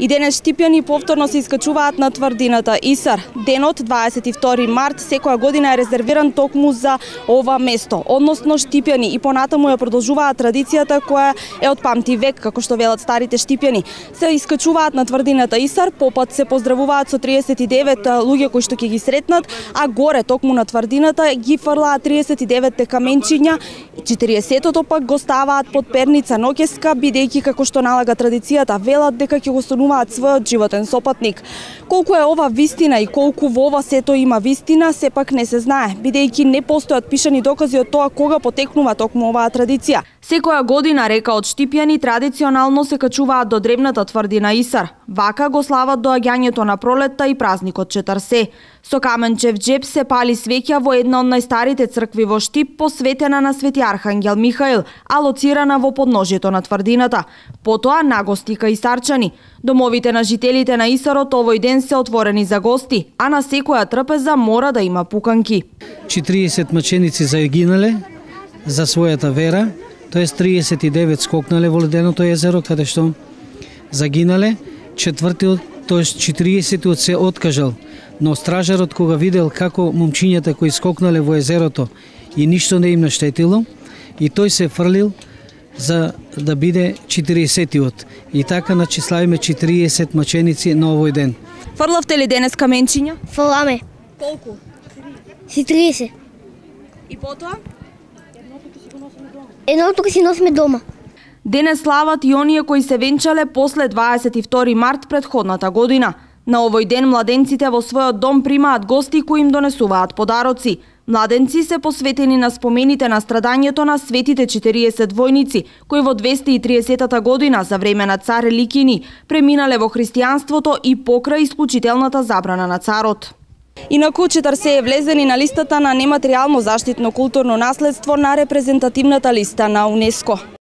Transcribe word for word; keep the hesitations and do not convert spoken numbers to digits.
И денес штипјани повторно се искачуваат на тврдината Исар. Денот дваесет и втори март секоја година е резервиран токму за ова место, односно штипјани и понатаму ја продолжуваат традицијата која е од памти век, како што велат старите штипјани. Се искачуваат на тврдината Исар, попат се поздравуваат со триесет и девет луѓе кои што ќе ги сретнат, а горе токму на тврдината ги фрлаат триесет и деветте каменчиња, четириесетото пак го ставаат под перница ноќеска, бидејќи како што налага традицијата, велат дека ќе го сонуваат својот животен сопатник. Колку е ова вистина и колку во ова сето има вистина, сепак не се знае, бидејќи не постојат пишани докази од тоа кога потекнува токму оваа традиција. Секоја година, река од штипјани, традиционално се качуваат до древната тврдина Исар. Вака го слават доаѓањето на пролетта и празникот Четрсе. Со каменчев джеп се пали свеќа во една од најстарите цркви во Штип, посветена на Свети Архангел Михаил, алоцирана во подножјето на тврдината. Потоа нагости кај Исарчани. Домовите на жителите на Исарот овој ден се отворени за гости, а на секоја трпеза мора да има пуканки. четириесет маченици загинале за својата вера, тоест триесет и девет скокнале во леденото езеро каде што загинале, четвртиот, тоест четириесетиот се откажал, но стражарот кога видел како момчињата кои скокнале во езерото и ништо не им наштетило, и тој се фрлил за да биде четириесетиот. И така начиславиме четириесет маченици на овој ден. Фрлавте ли денес каменчиња? Фрламе. Колку? Си триесет. И потоа? Едното си носиме дома. Денес слават и оние кои се венчале после дваесет и втори март претходната година. На овој ден младенците во својот дом примаат гости кои им донесуваат подароци. Младенци се посветени на спомените на страдањето на светите четириесет војници, кои во двесте и триесетата година за време на цар Ликини преминале во христијанството и покрај исклучителната забрана на царот. Инаку Четрсе е влезен и на листата на нематеријално заштитно културно наследство на репрезентативната листа на УНЕСКО.